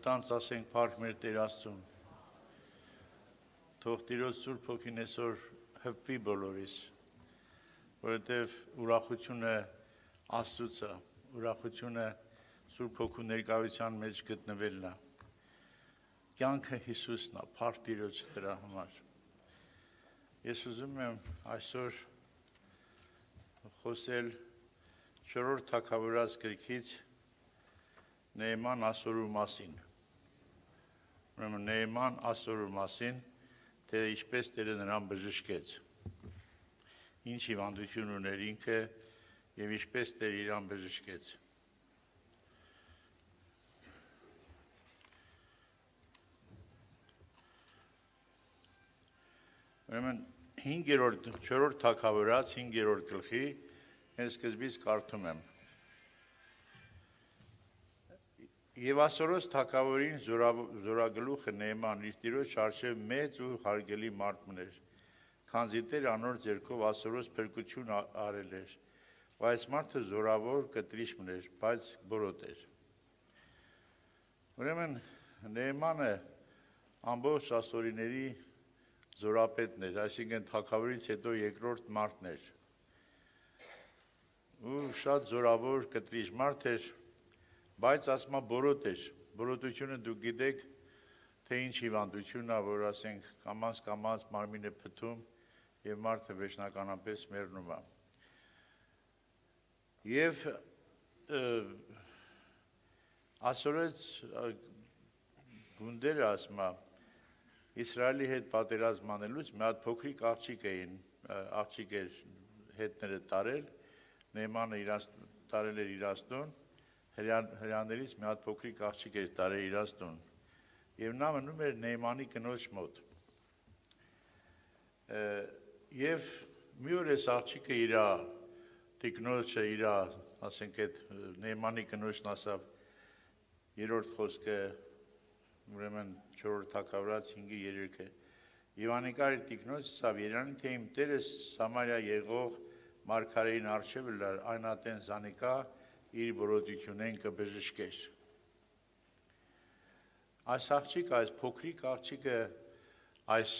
Մտանց ասենք փառք մեր Տեր Աստծուն։ Թող Տիրոջ Սուրբ Հոգին այսօր հպվի բոլորիս, որովհետև ուրախությունը Աստծուց է, ուրախությունը Սուրբ Հոգու ներկայության մեջ գտնվելն է։ Կյանքը Հիսուսն է, փառք Տիրոջ դրա համար։ Ես ուզում եմ այսօր խոսել 4-րդ թագավորաց գրքից Նեեման ասորու մասին։ Ուրեմն Նեեման ասորու մասին, թե ինչպես Տերը նրան բժշկեց, ինչ հիվանդություն ուներ ինքը եւ ինչպես Տերը իրան բժշկեց։ Ուրեմն 4-րդ թագավորաց 5-րդ գլխի հենց սկզբից կարդում եմ։ Եվ ասորոց թագավորին զորագլուխը Նեեման իր տիրոջ առջև մեծ ու հարգելի մարդ մներ, քանզի Տերը անոր ձեռքով ասորոց փրկություն արել էր, բայց մարդը զորավոր կտրիչ մներ, բայց բորոտ էր։ Ուրեմն Նեեմանը ամբողջ ասորիների զորապետն էր, այսինքն թագավորից հետո երկրորդ մարդն էր։ Ու շատ զորավոր կտրիչ մարդ էր, բայց ասма բորոտ էր, բորոտությունը դուք գիտեք, թե ինչ հիվանդություն է, որ ասենք կամաց մարմինը փթում և մարդը վերջնականապես մեռնում է։ Եվ ասորեց գունդերը ասма Իսրայելի հետ պատերազմ անելուց մի հատ փոքրիկ աղջիկ էր հետները տարել, Նեեմանը տարել էր իրաստուն, հրյաներից մի հատ փոքրիկ աղջիկ էր տարել իրաստուն և նա մնում էր Նեեմանի կնոջ մոտ։ Եվ մի օր այս աղջիկը իրա տիկնոջը իրա, ասենք այդ Նեեմանի կնոջն ասավ երրորդ խոսքը, ուրեմն 4-րդ թագավորաց 5-3-ը, և անիկար իր տիկնոջ ասավ երանի թե իմ տերս Սամարիա եղող մարգարեին առջև լար այն ատեն զանիկա իր բորոտությունեն կբժշկեր։ Այս աղջիկը, այս փոքրիկ աղջիկը այս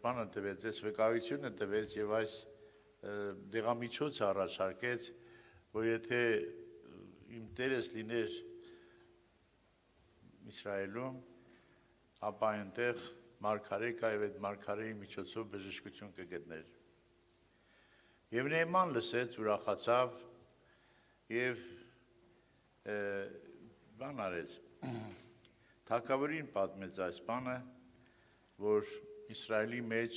բանը տվեց, այս վկայությունը տվեց և այս դեղամիջոցը առաջարկեց, որ եթե իմ տերս լիներ Իսրայելում, ապա այնտեղ մարգարե կա և այդ մարգարեի միջոցով բժշկություն կգտներ։ Եվ Նեեման լսեց, ուրախացավ և բան արեց, թագավորին պատմեց այս բանը, որ Իսրայելի մեջ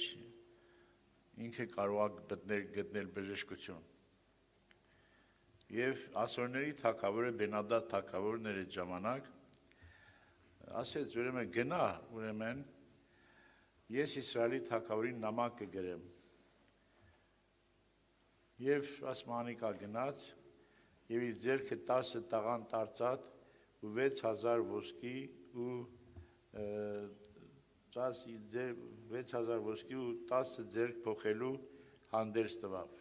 ինքը կարող է գտնել բժշկություն։ Եվ ասորների թագավորը Բենադադ թագավորն էր այդ ժամանակ, ասեց ուրեմն գնա, ուրեմն ես Իսրայելի թագավորին նամակ կգրեմ։ Եվ ասմանիկա գնաց և իր ձեռքը 10 տաղանդ արծաթ ու 6000 ոսկի ու 10 ձեռք փոխելու հանդերձ տվավ։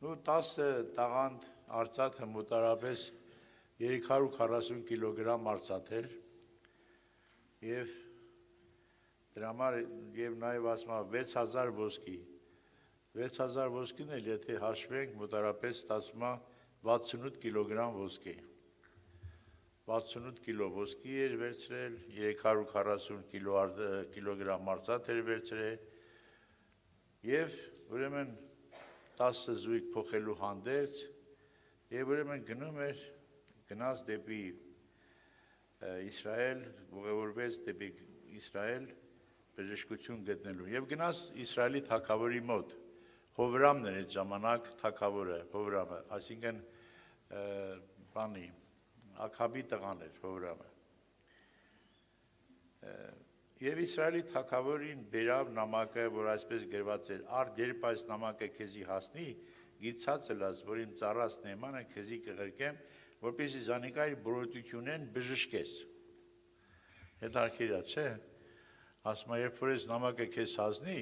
Ու 10 տաղանդ արծաթը մոտարապես 340 կիլոգրամ արծաթ էր և դրա համար և նաև ասма 6000 ոսկի։ 6000 ոսկին էլ եթե հաշվենք մոտարապես ստացվում է 68 կիլոգրամ ոսկի։ 68 կիլո ոսկի էր վերցրել, 340 կիլոգրամ արծաթ էր վերցրել և ուրեմն 10 զույգ փոխելու հանդերձ և ուրեմն գնաց դեպի Իսրայել, ուղևորվեց դեպի Իսրայել բժշկություն գտնելու և գնաց Իսրայելի թագավորի մոտ, Հովրամն էր այդ ժամանակ թագավորը, Հովրամը, այսինքն բանի, Աքաբի տղան էր Հովրամը։ Եվ Իսրայելի թագավորին բերավ նամակը, որ այսպես գրված էր, արդ երբ այս նամակը քեզի հասնի, գիտացել ես, որ իմ ծառաս Նեեմանը քեզի կղրկեմ, որպեսզի զանիկա իր բորոտությունեն բժշկես։ Հետարքիր է, չէ՞։ Ասում է, երբ որ այս նամակը քեզ հասնի,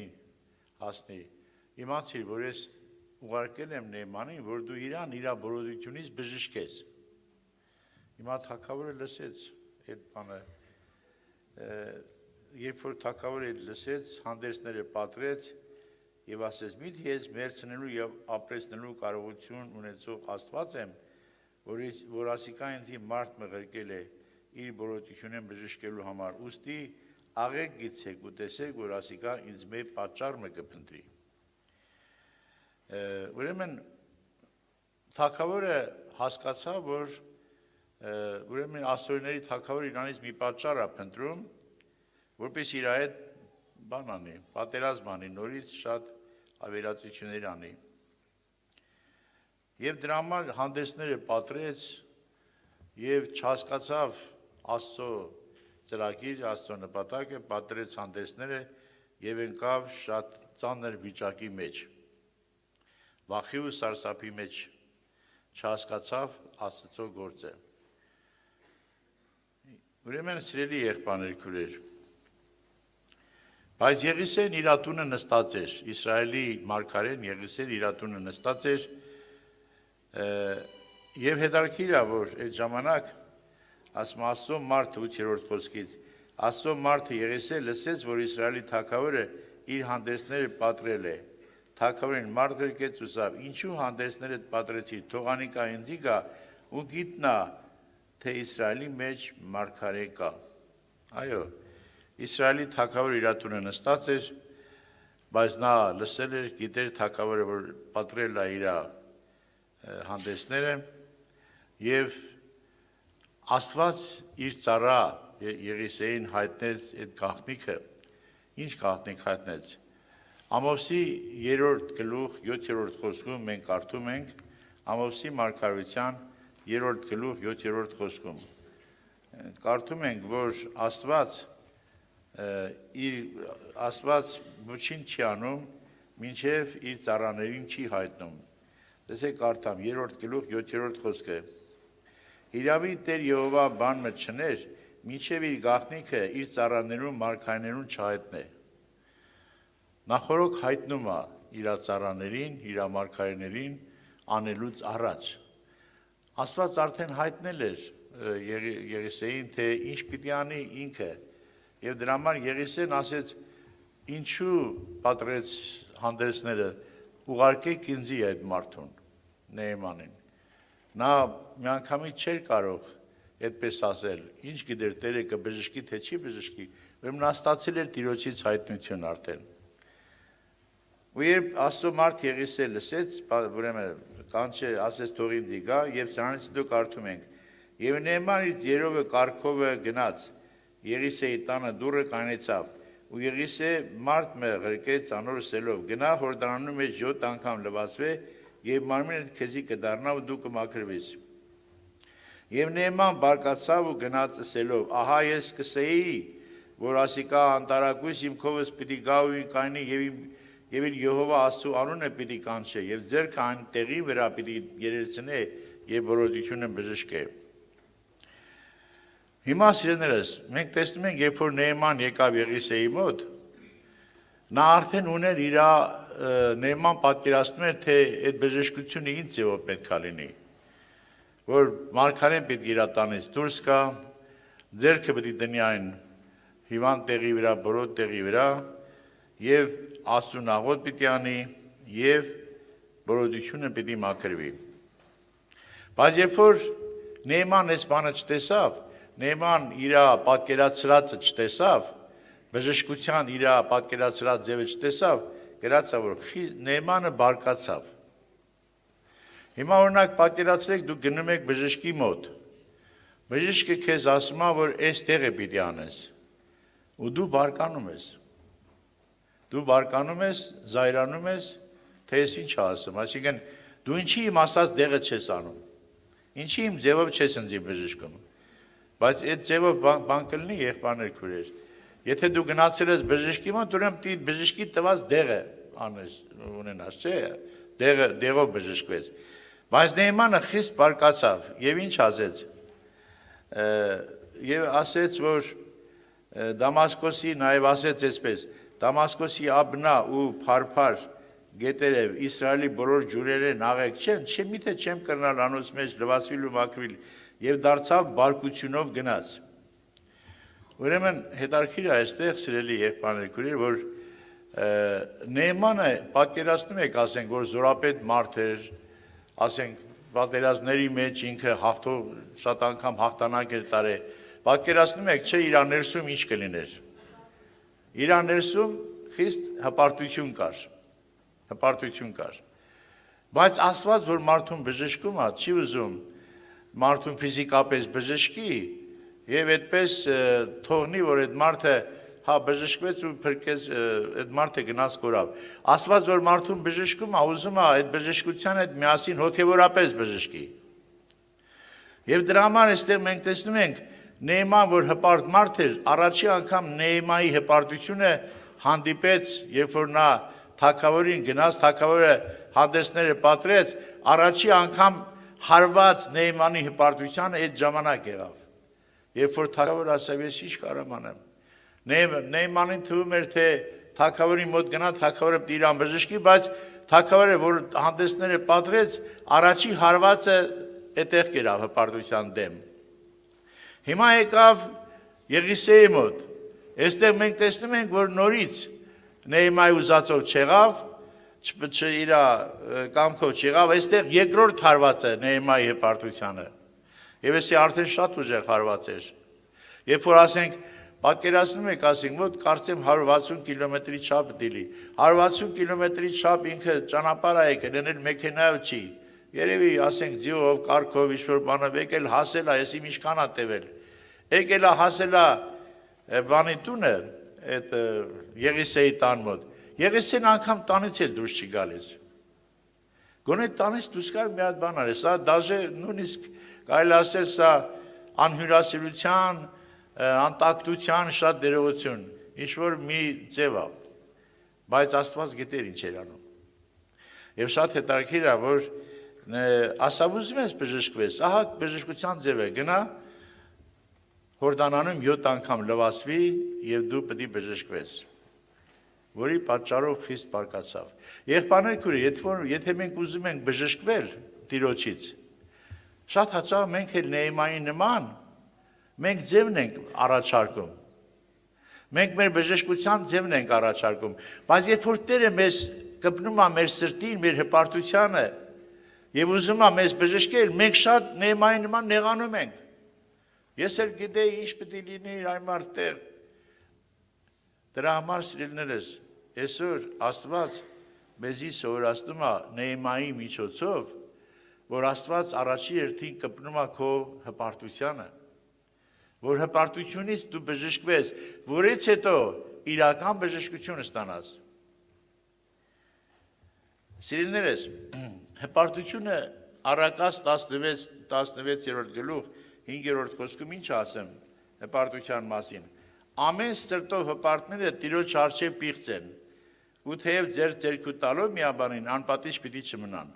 իմացիր, որ ես ուղարկել եմ Նեեմանին, որ դու իրան իր բորոտությունից բժշկես։ Հիմա թագավորը լսեց այդ բանը երբ որ թագավորը լսեց, հանդերձները պատրեց եւ ասեց՝ «Միթե ես մերցնելու եւ ապրեցնելու կարողություն ունեցող Աստված եմ, որ ասիկա ինձ մարդ մղրկել է իր բոլորությունն բժշկելու համար, ուստի աղեք գցեք ու տեսեք, որ ասիկա ինձ մեծ պատճառ մը կփնտրի»։ Ուրեմն թագավորը հասկացավ, որ ուրեմն ասորիների թագավորը իրանից մի պատճառ է փնտրում, որպես իր այդ բան անի, պատերազմ անի, նորից շատ ավերածություններ անի։ Եվ դրա համար հանդերձները պատրեց եւ չհասկացավ Աստծո ծրագիր, Աստծո նպատակը, պատրեց հանդերձները եւ ընկավ շատ ծանր վիճակի մեջ։ Վախի ու սարսափի մեջ չհասկացավ Աստծո գործը։ Ուրեմն սիրելի եղբայրներ, քույրեր, բայց Եղիսեն իր տունը նստած էր, Իսրայելի մարգարեն Եղիսեն իր տունը նստած էր, եւ հետաքրքիր է, որ այդ ժամանակ ասում Աստծո մարդը 8-րդ խոսքից, Աստծո մարդը Եղիսեն լսեց, որ Իսրայելի թագավորը իր հանդերձները պատրել է։ Թագավորին մարդ գրկեց ու ասավ. «Ինչու հանդերձներդ պատրեցիր, թող անիկա ինձի գա ու գիտնա, թե Իսրայելի մեջ մարգարե կա»։ Այո, Իսրայելի թագավորը իր տունը նստած էր, բայց նա լսել էր, գիտեր թագավորը, որ պատրել է իր հանդերձները եւ Աստված իր ծառա Եղիսեին հայտնեց այդ գաղտնիքը։ Ինչ գաղտնիք հայտնեց։ Ամոսի 3-րդ գլուխ 7-րդ խոսքում մենք կարդում ենք Ամոսի մարգարության 3-րդ գլուխ 7-րդ խոսքում։ Կարդում ենք, որ Աստված ոչինչ չի անում, մինչև իր ծառաներին չի հայտնում։ Տեսեք կարդամ 3-րդ գլուխ 7-րդ խոսքը։ Իրավի Տեր Եհովա բան մը չներ, մինչև իր գաղտնիքը իր ծառաներուն մարգարեներուն չհայտնե։ Նախորոք հայտնում է իր ծառաներին, իր մարգարեներին անելուց առաջ։ Աստված արդեն հայտնել էր Եղիսեին, թե ինչ պիտի անի ինքը։ Եվ դրա համար Եղիսեն ասեց. «Ինչու պատրեց հանդերձները, ուղարկեք ինձի այդ մարդուն, Նեեմանին»։ Նա միանգամից չէր կարող այդպես ասել, ինչ գիտեր Տերը կբժշկի, թե չի բժշկի, ուրեմն նա ստացել էր Տիրոջից հայտնություն արդեն։ Ու երբ Աստծո մարդ Եղիսեն լսեց, ուրեմն կանչե ասեց թող ինձ գա, եւ սրանից հետո կարդում ենք. «Եվ Նեեման իր երովը կարգովը գնաց, Եղիսեի տանը դուռը կանեցավ, ու Եղիսե մարդ մը ղրկեց անոր սելով, գնա Հորդանանու մեջ 7 անգամ լվացվե, եւ մարմինդ քեզի կդառնա ու դու կմաքրվես»։ Եվ Նեեման բարկացավ ու գնաց ասելով. «Ահա ես սկսեի, որ ասիկա անտարակույս իմ քովս պիտի գա ու կայնի եւ իր Եհովա Աստծո անունը պիտի կանչե եւ ձեռքը այն տեղի վրա պիտի երեցնե եւ բոլորությունը բժշկե»։ Հիմա սիրելիներս, մենք տեսնում ենք, երբ որ Նեեման եկավ Եղիսեի մոտ, նա արդեն ուներ իր Նեեման պատկերացնում էր, թե այդ բժշկությունը ինչ ձևով պետք է լինի, որ մարգարեն պետք իր տանից դուրս գա, ձեռքը պետք է դնի այն հիվանդ տեղի վրա, բոլոր տեղի վրա եւ Աստծուն աղոթ պիտի անի եւ բոլորությունը պիտի մաքրվի։ Բայց երբ որ Նեեման այս բանը չտեսավ, Նեեման իր պատկերացրածը չտեսավ, բժշկության իր պատկերացրած ձևը չտեսավ, գրածա որ Նեեմանը բարկացավ։ Հիմա օրինակ պատկերացրեք դուք գնում եք բժշկի մոտ։ Բժիշկը քեզ ասում է, որ այս տեղը պիտի անես։ Ու դու բարկանում ես։ Դու բարկանում ես, զայրանում ես, թե ես ինչ ասում, այսինքն դու ինչի իմ ասած դեղը չես անում։ Ինչի իմ ձևով չես ինձի բժշկում։ Բայց այդ ձևով բան կլինի եղբայրներ քույրեր։ Եթե դու գնացել ես բժշկի մոտ, ուրեմն բժշկի տված դեղը անես, ունենաս, չէ՞։ Դեղով բժշկվեց։ Բայց Նեեմանը խիստ բարկացավ եւ ինչ ասեց։ Եվ ասեց, որ Դամասկոսի նաեւ ասեց այսպես. Դամասկոսի աբնա ու փարփար գետերև Իսրայելի բոլոր ջուրերեն աղեք չեն, չէ՞ միթե չեմ կրնալ անոց մեջ լվացվիլ ու մաքրվիլ, եւ դարձավ բարկությունով գնաց։ Ուրեմն հետարքիր է այստեղ սիրելի եղբայրներ քույրեր, որ Նեյմանը պատկերացնում եք, ասենք, որ զորապետ մարդ էր, ասենք, պատերազմների մեջ ինքը շատ անգամ հաղթանակ էր տարել, պատկերացնում եք, չէ, իր ներսում ինչ կլիներ։ Իր ներսում խիստ հպարտություն կար։ Բայց Աստված, որ մարդուն բժշկում է, չի ուզում մարդուն ֆիզիկապես բժշկի եւ այդպես թողնի, որ այդ մարդը բժշկվեց ու փրկեց, այդ մարդը գնաց կորավ։ Աստված, որ մարդուն բժշկում է, ուզում է այդ բժշկության հետ միասին հոգեվորապես բժշկի։ Եվ դրա համար այստեղ մենք տեսնում ենք Նեյման, որ հպարտ մարդ էր, առաջի անգամ Նեյմայի հպարտությունը հանդիպեց, երբ որ նա թագավորին գնաց, թագավորը հանդեսները պատրեց, առաջի անգամ հարված Նեյմանի հպարտությանը այդ ժամանակ եղավ։ Երբ որ թագավորը ասավ, ես ինչ կարամ անեմ։ Նեյմանին թվում էր, թե թագավորի մոտ գնա, թագավորը իրան բժշկի, բայց թագավորը, որ հանդեսները պատրեց, առաջի հարվածը այդտեղ կերավ հպարտության դեմ։ Հիմա եկավ Եղիսեի մոտ։ Այստեղ մենք տեսնում ենք, որ նորից Նեյմայի ուզածով չեղավ, իր կամքով չեղավ, այստեղ երկրորդ հարվածը Նեյմայի հպարտությանը։ Եվ էսի արդեն շատ ուժեղ հարված էր։ Երբ որ ասենք, պատկերացնում եք, ասենք, մոտ կարծեմ 160 կիլոմետրի չափ դիլի։ 160 կիլոմետրի չափ ինքը ճանապարհ է եկել, էնել մեքենայով չի։ Երևի, ասենք, ձիով, կառքով, ինչ-որ բանով եկել, հասել է, եսի ինչքան է տևել։ Եկել է, հասել է բանի տունը, այդ Եղիսեի տան մոտ։ Եղիսեն անգամ տանից էլ դուրս չի գալիս։ Գոնե տանից դուրս գալ մի հատ բան արի, սա դաժե նույնիսկ կարելի ասել սա անհյուրասիրության, անտակտության շատ դերողություն, ինչ-որ մի ձև է, բայց Աստված գիտեր ինչ էր անում։ Եվ շատ հետաքրքիր է, որ ասավ ուզում ես բժշկվես, ահա բժշկության ձև է, գնա Հորդանանում 7 անգամ լվացվի եւ դու պետք է բժշկվես, որի պատճառով խիստ բարկացավ։ Եղբայրներ քույրեր, եթե մենք ուզում ենք բժշկվել Տիրոջից, շատ հաճախ մենք էլ Նեյմայի նման մենք ձևն ենք առաջարկում։ Մենք մեր բժշկության ձևն ենք առաջարկում, բայց երբ որ Տերը մեզ կպնում է մեր սրտին, մեր հպարտությանը եւ ուզում է մեզ բժշկել, մենք շատ Նեյմայի նման նեղանում ենք։ Ես էլ գիտեի ինչ պետք է լինի այմար տեղ։ Դրա համար սիրելիներս, այսօր Աստված մեզի սովորացնում է Նեյմայի միջոցով, որ Աստված առաջի հերթին կպնում է քո հպարտությանը, որ հպարտությունից դու բժշկվես, որից հետո իրական բժշկություն ստանաս։ Սիրելիներս, հպարտությունը Առակաց 16-րդ գլուխ 5-րդ խոսքում ինչ ասեմ հպարտության մասին։ Ամեն սրտով հպարտները Տիրոջ առջև պիղծ են, ու թեև ձեր ձեռքու տալով միաբանին անպատիժ պիտի չմնան։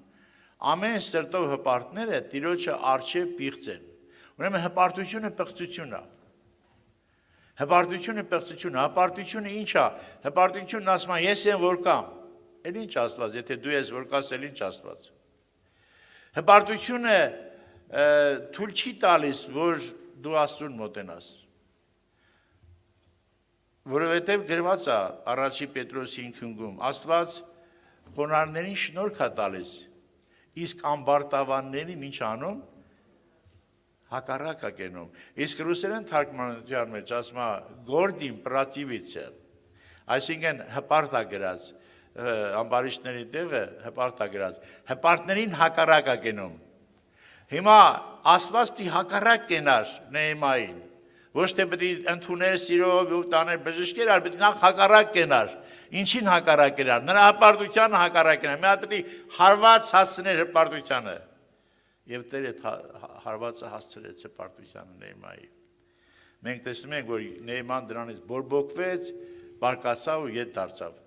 Ամեն սրտով հպարտները Տիրոջը առջև պիղծ են։ Ուրեմն հպարտությունը պղծություն է։ Հպարտությունը ինչ է։ Հպարտությունն ասում է ես եմ որ կամ։ Էլ ինչ Աստված, եթե դու ես որ կաս, էլ ինչ Աստված։ Հպարտությունը թույլ չի տալիս, որ դու Աստծուն մոտենաս։ Որովհետև գրված է առաջի Պետրոս 5:5-ում, Աստված խոնարհներին շնորհք է տալիս, իսկ ամբարտավաններին ինչ անում, հակառակ է կենում։ Իսկ ռուսերեն թարգմանության մեջ ասում է «Գորդիմ պրատիվիցը», այսինքն հպարտ է գրած, ամբարիշտների տեղը հպարտ է գրած, հպարտներին հակառակ է կենում։ Հիմա Աստված պիտի հակառակ կենար Նեյմային, ոչ թե պետք է ընդուներ սիրով ու տաներ բժշկեր, այլ պետք է նախ հակառակ կենար։ Ինչին հակառակ կենար։ Նրա հպարտությանը հակառակ կենար։ Մի հատ պետք է հարված հասցներ հպարտությանը։ Եվ Տերը հարվածը հասցրեց հպարտությանը Նեյմայի։ Մենք տեսնում ենք, որ Նեյման դրանից բորբոքվեց, բարկացավ ու ետ դարձավ։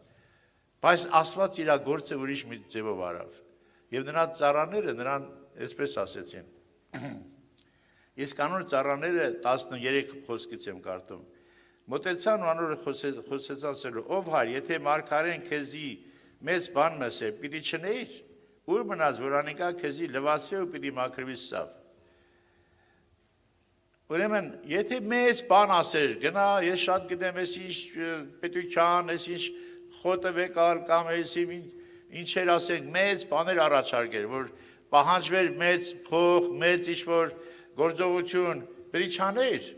Բայց Աստված իր գործը ուրիշ մի ձևով արավ։ Եվ նրա ծառաները նրան այսպես ասեցին։ Իսկ անոր ծառաները 13 խոսքից եմ կարդում։ Մոտեցան ու անորը խոսեցան ասելու. «Ով հայր, եթե մարգարեն քեզի մեծ բան մսեր, պիտի չնեիր, ուր մնաց, որ անիկա քեզի լվացե ու պիտի մաքրվի սավ»։ Ուրեմն, եթե մեծ բան ասեր, գնա, ես շատ գիտեմ, ես ինչ պետության, ես ինչ խոտը վեկալ կամ ես ինչեր ասենք, մեծ բաներ առաջարկեր, որ պահանջվեր մեծ փող, մեծ ինչ-որ գործողություն, պետք չաներ։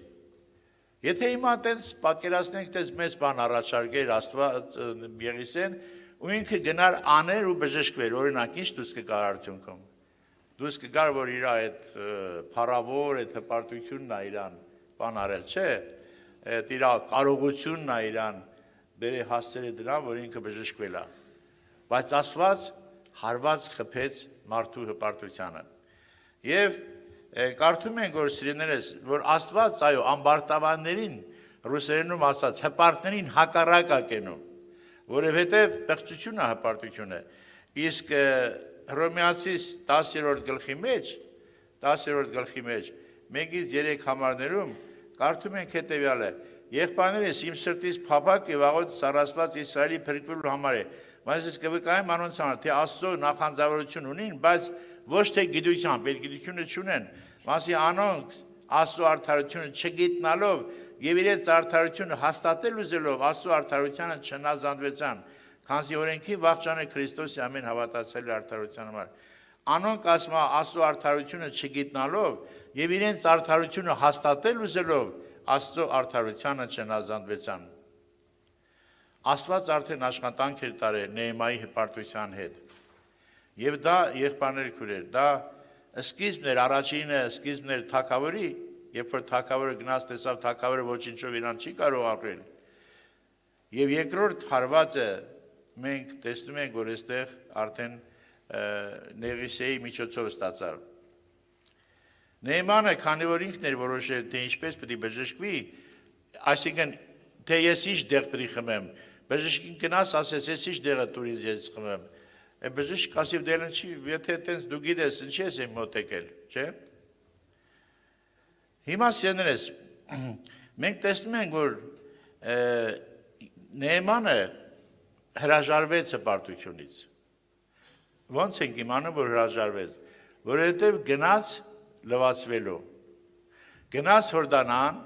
Եթե հիմա տենց պատկերացնենք, տենց մեծ բան առաջարկեր Աստված Եղիսեն, ու ինքը գնար աներ ու բժշկվեր, օրինակ, ինչ դուս կգար արդյունքում։ Դուս կգար, որ իր այդ փառավոր, այդ հպարտությունն է իրան բան արել, չէ, այդ իր կարողությունն է իրան բերի հասցրել դրան, որ ինքը բժշկվել է։ Բայց Աստված հարված խփեց մարդու հպարտությանը։ Եվ կարդում ենք, որ սիրելիներս, որ Աստված, այո, ամբարտավաններին, ռուսերենում ասած, հպարտներին հակառակ է կենում, որովհետև պղծությունը հպարտություն է։ Իսկ Հռոմեացիս 10-րդ գլխի մեջ 1-ից 3 համարներում կարդում ենք հետևյալը. Եղբայրներս իմ սրտից փափակ եւ աղոտ սառացված Իսրայելի փրկվելու համար է, բայց ես կվկայեմ անոնց համար, թե Աստծո նախանձավորություն ունին, բայց ոչ թե գիտությամբ, այդ գիտությունը չունեն, մասի անոնք Աստծո արդարությունը չգիտնալով եւ իրենց արդարությունը հաստատել ուզելով Աստծո արդարությանը չնազանդվեցան, քանզի օրենքի վախճանը Քրիստոսի ամեն հավատացյալի արդարության համար։ Անոնք ասում են Աստծո արդարությունը չգիտնալով եւ իրենց արդարությունը հաստատել ուզելով Աստծո արդարությանը չնազանդվեցան։ Աստված արդեն աշխատանք էր տարել Նեհեմիայի հպարտության հետ։ Եվ դա եղբայրներ քուրեր, դա սկիզբն էր, առաջինը սկիզբն էր թագավորի, երբ որ թագավորը գնաց տեսավ թագավորը ոչինչով իրան չի կարող ապրել։ Եվ երկրորդ հարվածը մենք տեսնում ենք, որ այստեղ արդեն Նեղիսեի միջոցով ստացավ։ Նեհեմանը, քանի որ ինքն էր որոշել, թե ինչպես պետք է բժշկվի, այսինքն թե ես ինչ դեղ պետք է խմեմ, բժշկին գնաց, ասես ես ինչ դեղը տուր ինձ ես խմեմ։ Բժիշկ ասի դելն չի, եթե այտենց դու գիտես, ինչի ես եմ մոտեկել, չէ՞։ Հիմա սիրելիներս, մենք տեսնում ենք, որ Նեհեմանը հրաժարվեց հպարտությունից։ Ոնց ենք իմանում, որ հրաժարվեց, որովհետև գնաց լվացվելու։ Գնաց Հորդանան,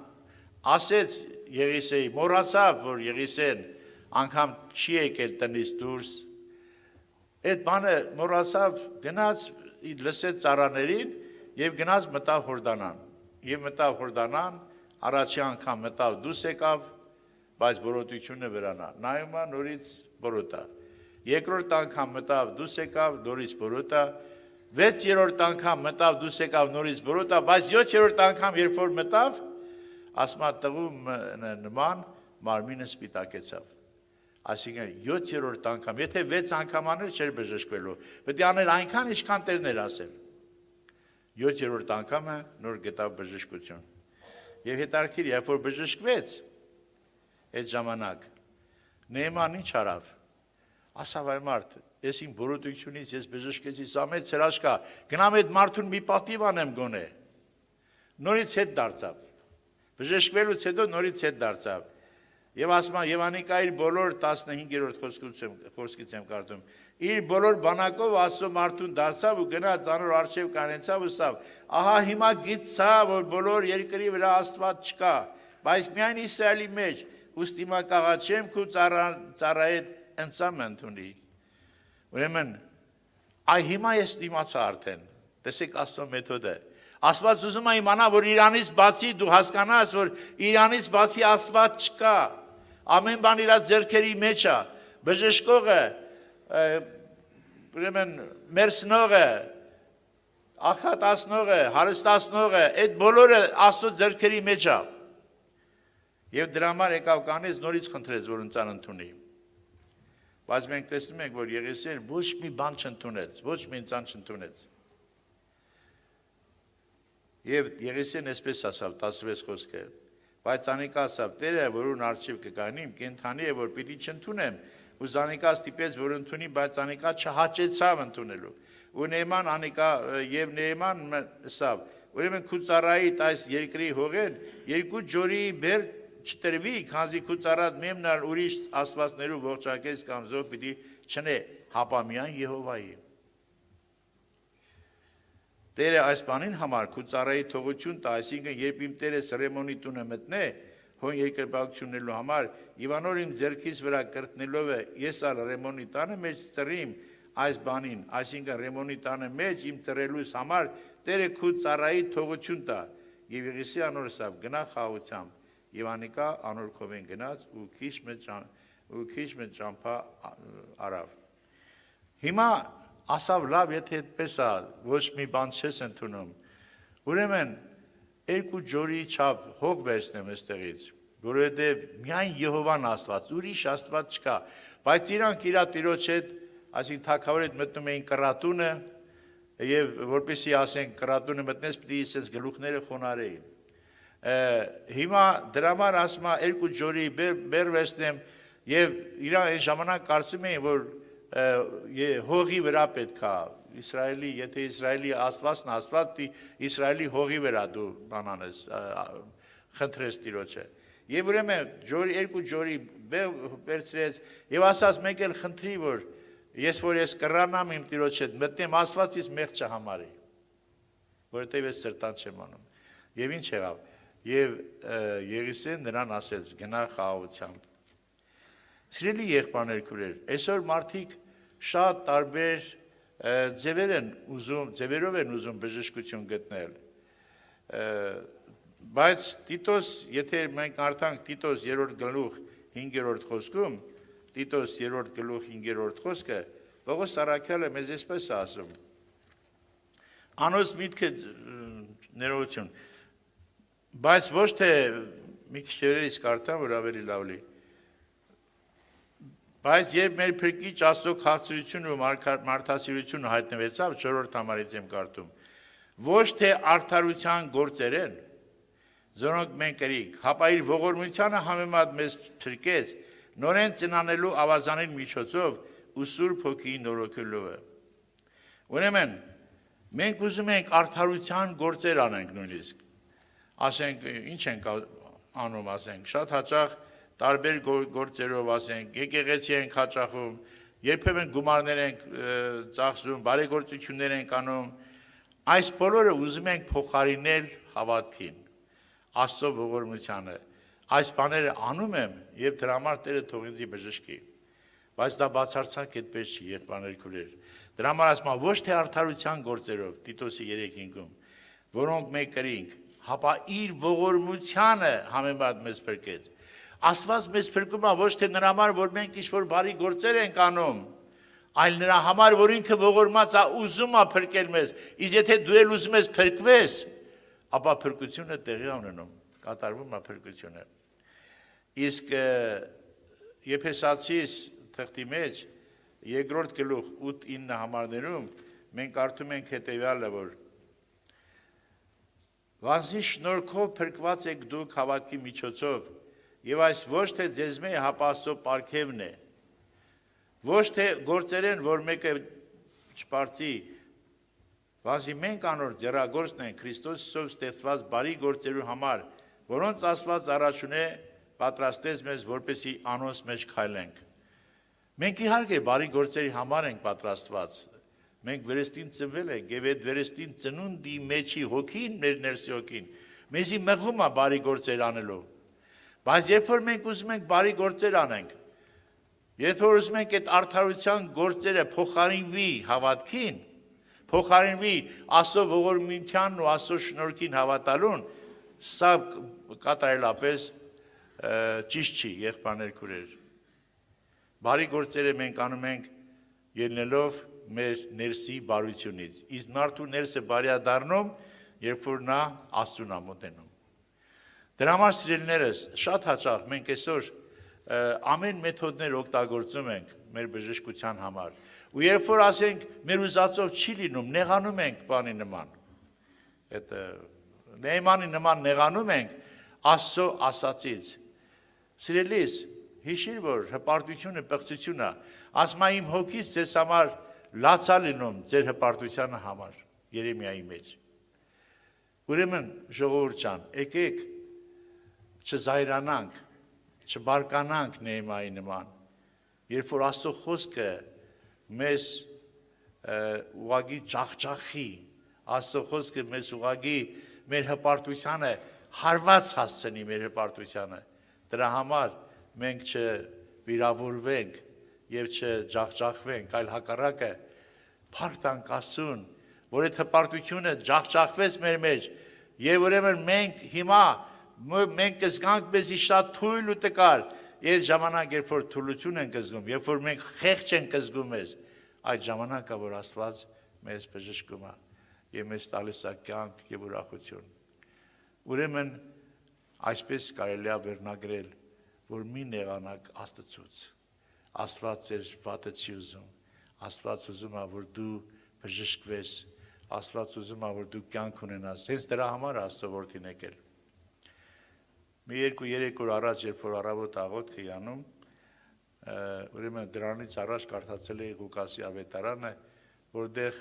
ասեց Եղիսեի, մոռացավ, որ Եղիսեն անգամ չի եկել տնից դուրս։ Այդ բանը մոռացավ, գնաց լսեց ծառաներին եւ գնաց մտավ Հորդանան։ Եվ մտավ Հորդանան, առաջի անգամ մտավ դուրս եկավ, բայց բորոտությունը վրանա։ Նայում է նորից բորոտա։ Երկրորդ անգամ մտավ դուրս եկավ, նորից բորոտա։ 6-րդ անգամ մտավ դուրս եկավ, նորից բորոտա, բայց 7-րդ անգամ երբ որ մտավ, ասма տղու նման մարմինը սպիտակեցավ։ Այսինքն 7-րդ անգամ, եթե 6 անգամ աներ չէր բժշկվելու, պետք է անել այնքան ինչքան Տերն էր ասել։ 7-րդ անգամը նոր գտավ բժշկություն։ Եվ հետարքիր, երբ որ բժշկվեց, այդ ժամանակ Նեհեման ինչ արավ։ Ասավ այ մարդ, ես իմ բորոտությունից ես բժշկեցի, սա մեծ հրաշք է, գնամ այդ մարդուն մի պատիվ անեմ գոնե։ Նորից հետ դարձավ։ Բժշկվելուց հետո նորից հետ դարձավ։ Եվ ասում եմ, եւ անիկա իր բոլոր 15-րդ խոսքից եմ կարդում։ Իր բոլոր բանակով Աստծո մարդուն դարձավ ու գնաց անոր արչեւ կանեցավ ու սավ։ Ահա հիմա գիտցա, որ բոլոր երկրի վրա Աստված չկա, բայց միայն Իսրայելի մեջ ուստի մա կաղաչեմ քու ծառայեդ ընծամ ընդունի։ Ուրեմն այ հիմա ես դիմացա արդեն։ Տեսեք Աստծո մեթոդը։ Աստված ուզում է իմանա, որ Իրանից բացի դու հասկանաս, որ Իրանից բացի Աստված չկա։ Ամեն բան իր ձեռքերի մեջ է։ Բժշկողը, ուրեմն մերսնողը, աղքատացնողը, հարստացնողը, այդ բոլորը Աստծո ձեռքերի մեջ է։ Եվ դրա համար եկավ կանից նորից խնդրեց, որ ընծան ընդունի։ Բայց մենք տեսնում ենք, որ Եղիսեն ոչ մի բան չընդունեց, ոչ մի ընծան չընդունեց։ Եվ Եղիսեն այսպես ասավ 16 խոսքը, բայց անիկա ասավ, Տերը, որուն առջև կգանիմ, կենթանի է, որ պիտի չընդունեմ, ու Զանիկա ստիպեց, որ ընդունի, բայց անիկա չհաճեցավ ընդունելու։ Ու Նեհեման անիկա եւ Նեհեման ասավ, ուրեմն քու ծառայիդ այս երկրի հողեն երկու ջորի բեր չտրվի, քանզի քու ծառատ մեմնալ ուրիշ աստվածներու ողջակես կամ զոհ պիտի չնե, հապա միայն Եհովայի։ Տերը այս բանին համար քու ծառայի թողություն տա, այսինքն երբ իմ Տերը Սրեմոնի տունը մտնե, հոն երկրպագությունելու համար, Իվանոր իմ ձեռքից վրա կրտնելով է, ես ալ Ռեմոնի տանը մեջ ծռիմ այս բանին, այսինքն Ռեմոնի տանը մեջ իմ ծռելուս համար Տերը քու ծառայի թողություն տա, եւ Եղիսի անոր սավ գնա խաղությամբ, եւ Անիկա անոր քովեն գնաց ու քիչ մեծ ճամփա արավ։ Հիմա ասավ լավ, եթե այդպես է, ոչ մի բան չես ընդունում։ Ուրեմն երկու ջորի չափ հող վերցնեմ այստեղից, որովհետև միայն Եհովան Աստված, ուրիշ Աստված չկա, բայց իրանք իր տիրոջ հետ, այսինքն թագավորի հետ մտնում էին կռատունը, եւ որպեսզի ասենք կռատունը մտնես, պիտի ասես գլուխները խոնարհեին։ Հիմա դրա համար ասում է երկու ջորի բեր վերցնեմ եւ իրանք այն ժամանակ կարծում էին, որ հողի վրա պետք է Իսրայելի, եթե Իսրայելի Աստվածն Աստված, Իսրայելի հողի վրա դու բանանես, խնդրես տիրոջը։ Եվ ուրեմն երկու ջորի վերցրեց եւ ասաց մեկ էլ խնդրի, որ ես կռանամ իմ տիրոջ հետ, մտնեմ Աստվածից մեղ չհամարի, որովհետեւ ես սրտան չեմ անում։ Եվ ինչ եղավ։ Եվ Եղիսեն նրան ասեց գնա խաղաղությամբ։ Սիրելի եղբայրներ, քույրեր, այսօր մարդիկ շատ տարբեր ձևերով են ուզում բժշկություն գտնել։ Բայց Տիտոս, եթե մենք արդանք Տիտոս 3-րդ գլուխ 5-րդ խոսքում, Տիտոս 3-րդ գլուխ 5-րդ խոսքը, Պողոս առաքյալը մեզ այսպես է ասում. Անոց միտքը ներողություն, բայց ոչ թե մի քիչ երերից կարդամ, որ ավելի լավ լինի։ Բայց երբ մեր փրկիչ Աստծո քաղցրությունը ու մարդասիրությունը հայտնվեցավ, 4-րդ համարից եմ կարդում, ոչ թե արդարության գործեր են, որոնք մենք կրինք, հապա իր ողորմությանը համեմատ մեզ փրկեց, նորեն ծնանելու ավազանին միջոցով ու Սուրբ Հոգիի նորոգելով է։ Ուրեմն, մենք ուզում ենք արդարության գործեր անենք նույնիսկ, ասենք, ինչ ենք անում, ասենք, շատ հաճախ տարբեր գործերով ասենք, եկեղեցի ենք հաճախում, երբեմն գումարներ ենք ծախսում, բարեգործություններ ենք անում, այս բոլորը ուզում ենք փոխարինել հավատքին, Աստծո ողորմությանը, այս բաները անում եմ եւ դրա համար Տերը թող ինձ բժշկի, բայց դա բացարձակ այդպես չի, եղբայրներ քույրեր, դրա համար ասում եմ ոչ թե արդարության գործերով, Տիտոսի 3:5-ում, որոնք մենք կրինք, հապա իր ողորմությանը համեմատ մեզ փրկեց։ Աստված մեզ փրկում է ոչ թե նրա համար, որ մենք ինչ-որ բարի գործեր ենք անում, այլ նրա համար, որ ինքը ողորմած է ուզում է փրկել մեզ, իսկ եթե դու էլ ուզում ես փրկվես, ապա փրկությունը տեղի ունենում, կատարվում է փրկությունը։ Իսկ Եփեսացիս թղթի մեջ 2-րդ գլուխ 8-9 համարներում մենք կարդում ենք հետևյալը, որ Վասնի շնորհքով փրկված եք դուք հավատքի միջոցով, եւ այս ոչ թե ձեզմե հապաստո պարգևն է, ոչ թե գործեր են, որ մեկը չպարծի, վասնի մենք անոր ձեռագործն ենք Քրիստոսով ստեղծված բարի գործերու համար, որոնց Աստված առաջունե պատրաստեց մեզ, որպեսզի անոնց մեջ քայլենք։ Մենք իհարկե բարի գործերի համար ենք պատրաստված։ Մենք վերստին ծնվել ենք եւ այդ վերստին ծնունդի մեջի հոգին, մեր ներսի հոգին, մեզի մղում է բարի գործեր անելու։ Բայց երբ որ մենք ուզում ենք բարի գործեր անենք, երբ որ ուզում ենք այդ արդարության գործերը փոխարինվի հավատքին, փոխարինվի Աստծո ողորմությանն ու Աստծո շնորհքին հավատալուն, սա կատարելապես ճիշտ չի, եղբայրներ քույրեր։ Բարի գործերը մենք անում ենք ելնելով մեր ներսի բարությունից, իսկ մարդու ներսը բարիա դառնում, երբ որ նա Աստծուն է մոտենում։ Դրա համար սիրելիներս, շատ հաճախ մենք այսօր ամեն մեթոդներ օգտագործում ենք մեր բժշկության համար։ Ու երբ որ ասենք մեր ուզածով չի լինում, նեղանում ենք բանի նման։ Այդ նեյմանի նման նեղանում ենք Աստծո ասածից։ Սիրելիս, հիշիր, որ հպարտությունը պղծություն է, ասում է իմ հոգից ձեզ համար լացա լինում ձեր հպարտությանը համար, Երեմիայի մեջ։ Ուրեմն ժողովուրդ ջան, եկեք չզայրանանք, չբարկանանք Նեհեմիայի նման, երբ որ Աստծո խոսքը մեզ ուղղակի ջախջախի, Աստծո խոսքը մեզ ուղղակի մեր հպարտությանը հարված հասցնի մեր հպարտությանը։ Դրա համար մենք չվիրավորվենք եւ չջախջախվենք, այլ հակառակը փառք տանք Աստծուն, որ այդ հպարտությունը ջախջախվեց մեր մեջ եւ ուրեմն մենք հիմա մենք կզգանք մեզի շատ թույլ ու տկար, այդ ժամանակ երբ որ թուլություն ենք զգում, երբ որ մենք խեղճ ենք զգում մեզ, այդ ժամանակը որ Աստված մեզ բժշկում է եւ մեզ տալիս է կյանք եւ ուրախություն։ Ուրեմն այսպես կարելի է վերնագրել, որ մի նեղանակ Աստծուց։ Աստված ձեր վատը չի ուզում։ Աստված ուզում է, որ դու բժշկվես։ Աստված ուզում է, որ դու կյանք ունենաս։ Հենց դրա համար Աստծո որդին եկել։ Մի 2-3 օր առաջ, երբ որ առավոտ աղոթք էի անում, ուրեմն դրանից առաջ կարդացել էի Ղուկասի ավետարանը, որտեղ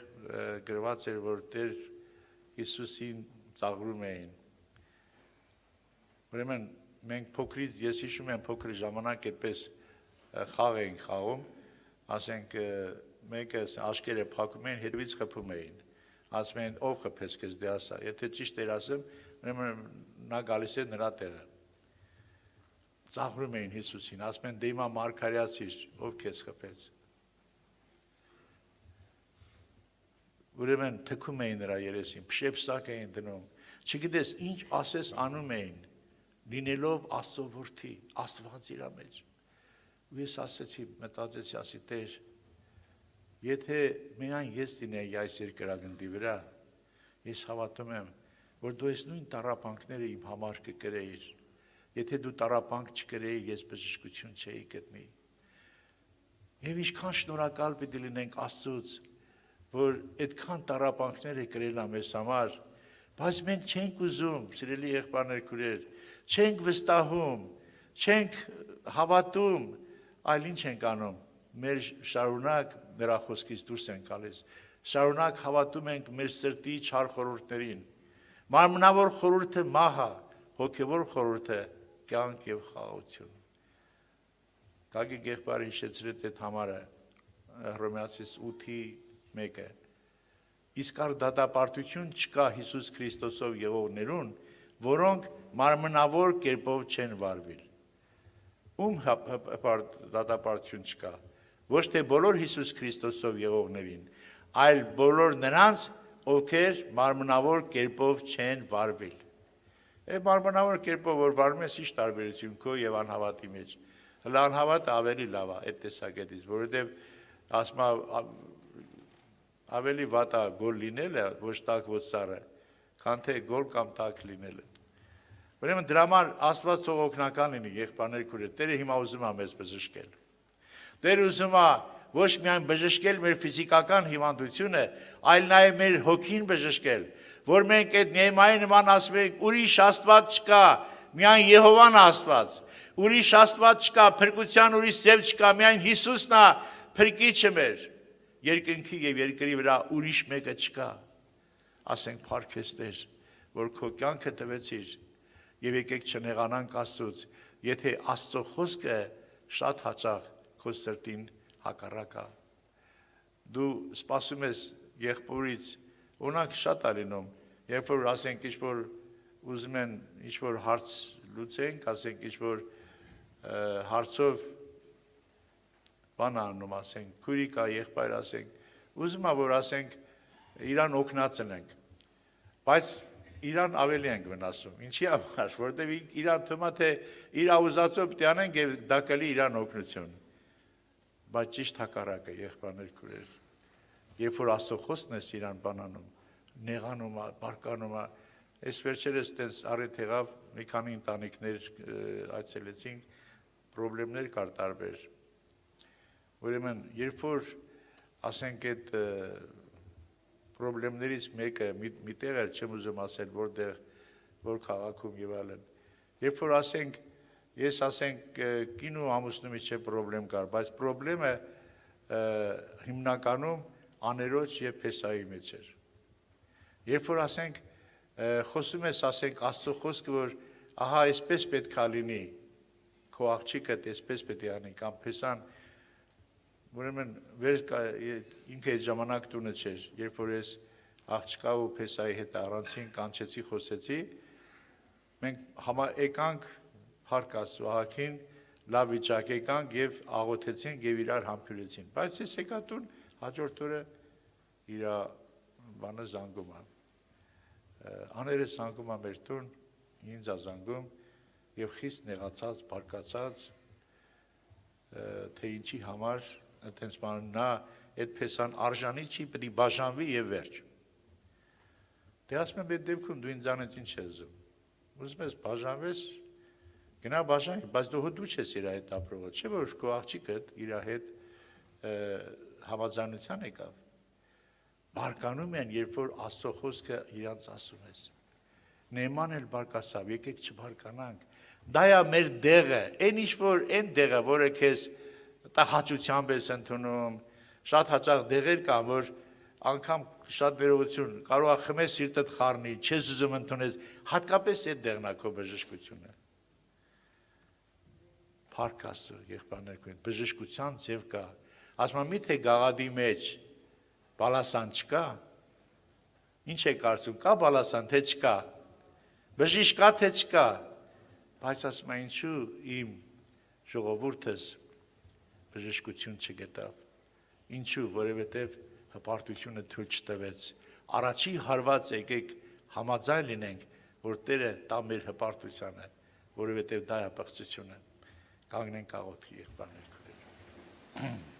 գրված էր, որ Տեր Հիսուսին ծաղրում էին։ Ուրեմն մենք փոքրից, ես հիշում եմ փոքր ժամանակ այդպես խաղ էինք խաղում, ասենք մեկը աշկերը փակում էին, հետևից խփում էին։ Ասում են ով խփեց քեզ դե ասա։ Եթե ճիշտ էր ասեմ, ուրեմն նա գալիս է նրա տեղը։ Ծաղրում էին Հիսուսին, ասում են դե հիմա մարգարեացիր, ով քեզ խփեց։ Ուրեմն թքում էին նրա երեսին, փշեպսակ էին դնում, չգիտես ինչ ասես անում էին, լինելով Աստծո որդի, Աստված իրա մեջ։ Ու ես ասեցի, մտածեցի, ասի Տեր, եթե միայն ես լինեի այս երկրագնդի վրա, ես հավատում եմ, որ դու այս նույն տառապանքները իմ համար կկրեիր։ Եթե դու տառապանք չկրեիր, ես բժշկություն չէի գտնի։ Եվ ինչքան շնորհակալ պիտի լինենք Աստծուց, որ այդքան տառապանքներ է կրել մեզ համար, բայց մենք չենք ուզում, սիրելի եղբայրներ, քույրեր, չենք վստահում, չենք հավատում, այլ ինչ ենք անում։ Մեր շարունակ նրա խոսքից դուրս ենք գալիս։ Շարունակ հավատում ենք մեր սրտի չար խորհուրդներին։ Մարմնավոր խորհուրդը մահ է, հոգևոր խորհուրդը կյանք եւ խաղաղություն։ Գագիկ եղբայրը հիշեցրեց այդ համարը Հռոմեացիս 8:1-ը։ Իսկ առ դատապարտություն չկա Հիսուս Քրիստոսով եղողներուն, որոնք մարմնավոր կերպով չեն վարվել։ Ում դատապարտություն չկա։ Ոչ թե բոլոր Հիսուս Քրիստոսով եղողներին, այլ բոլոր նրանց, ովքեր մարմնավոր կերպով չեն վարվել։ Այդ մարմնավոր կերպով որ վարվում ես, ի՞նչ տարբերություն քո եւ անհավատի մեջ։ Հələ անհավատը ավելի լավ է այդ տեսակետից, որովհետեւ ասма ավելի վատ է գոլ լինելը, ոչ տակ ոչ սառը, քան թե գոլ կամ տակ լինելը։ Ուրեմն դրա համար Աստված թող օգնական լինի, եղբայրներ քույրեր, Տերը հիմա ուզում է մեզ բժշկել։ Տերը ուզում է ոչ միայն բժշկել մեր ֆիզիկական հիվանդությունը, այլ նաև մեր հոգին բժշկել, որ մենք այդ Նեհեմիայի նման ասում ենք, ուրիշ Աստված չկա, միայն Եհովան է Աստված, ուրիշ Աստված չկա, փրկության ուրիշ ձև չկա, միայն Հիսուսն է փրկիչը մեր, երկնքի եւ երկրի վրա ուրիշ մեկը չկա։ Ասենք փառք քեզ Տեր, որ քո կյանքը տվեցիր եւ եկեք չնեղանանք Աստծուց, եթե Աստծո խոսքը շատ հաճախ քո սրտին հակառակ է։ Դու սպասում ես եղբորից, օրինակ շատ է լինում, երբ որ ասենք ինչ-որ ուզում են ինչ-որ հարց լուծենք, ասենք ինչ-որ հարցով բան անում, ասենք քույրիկա, եղբայր, ասենք, ուզում է որ ասենք իրան օգնացնենք, բայց իրան ավելի ենք վնասում։ Ինչի համար, որտեվ իրան թվում է թե իր ուզածով պիտի անենք եւ դա կլի իրան օգնություն։ Բայց ճիշտ հակառակը, եղբայրներ քույրեր, երբ որ Աստծո խոսքն ես իրան բանանում, նեղանում է, բարկանում է, այս վերջերս տես առիթ եղավ, մի քանի ընտանիքներ այցելեցինք, խնդիրներ կար տարբեր։ Ուրեմն, երբ որ ասենք այդ խնդիրներից մեկը մի տեղ էր, չեմ ուզում ասել, որտեղ, որ քաղաքում եւ այլն։ Երբ որ ասենք, ես ասենք կին ու ամուսնումից չէ խնդրեմ կար, բայց խնդրեմը հիմնականում աներոջ եւ փեսայի մեջ էր։ Երբ որ ասենք խոսում ես, ասենք Աստծո խոսքը, որ ահա այսպես պետք է լինի, քո աղջիկը այսպես պետք է անի, կամ փեսան, ուրեմն ինքը այդ ժամանակ տունը չէր, երբ որ ես աղջկա ու Փեսայի հետ առանցին կանչեցի, խոսեցի, մենք եկանք Փառք Աստծո Ահագին, լավ վիճակ եկանք եւ աղոթեցինք եւ իրար համբուրեցին, բայց ես եկա տուն հաջորդ օրը իր բանը զանգում է, աներս զանգում է մեր տուն, ինձ է զանգում եւ խիստ նեղացած, բարկացած, թե ինչի համար, այդպես բան նա այդ Փեսան արժանի չի, պետք է բաժանվի եւ վերջ։ Դե ասում եմ այդ դեպքում դու ինձանից ինչ ես ուզում։ Ուզում ես բաժանվես, գնա բաժանի, բայց դու չես իր հետ ապրողը, չէ՞ որ քո աղջիկդ իր հետ համաձայնության եկավ։ Բարկանում են, երբ որ Աստծո խոսքը իրանց ասում ես։ Նեման էլ բարկացավ, եկեք չբարկանանք։ Դա է մեր դեղը, այն ինչ որ այն դեղը, որը քեզ հաճությամբ ես ընդունում, շատ հաճախ դեղեր կան, որ անգամ շատ վերողություն կարող է խմես սիրտդ խառնի, չես ուզում ընդունես, հատկապես այդ դեղն է քո բժշկությունը։ Փառք Աստծո, եղբայրներ քույր, բժշկության ձև կա։ Ասում եմ, միթե գաղադի մեջ բալասան չկա։ Ինչ է կարծում, կա բալասան, թե չկա։ Բժիշկ կա, թե չկա։ Բայց ասում եմ, ինչու իմ ժողովուրդս բժշկություն չգտավ։ Ինչու, որովհետև հպարտությունը թույլ չտվեց։ Առաջի հարված եկեք համաձայն լինենք, որ Տերը տա մեր հպարտությանը, որովհետև դա է պղծությունը։ Կանգնենք աղոթքի եղբայրներ քույրեր։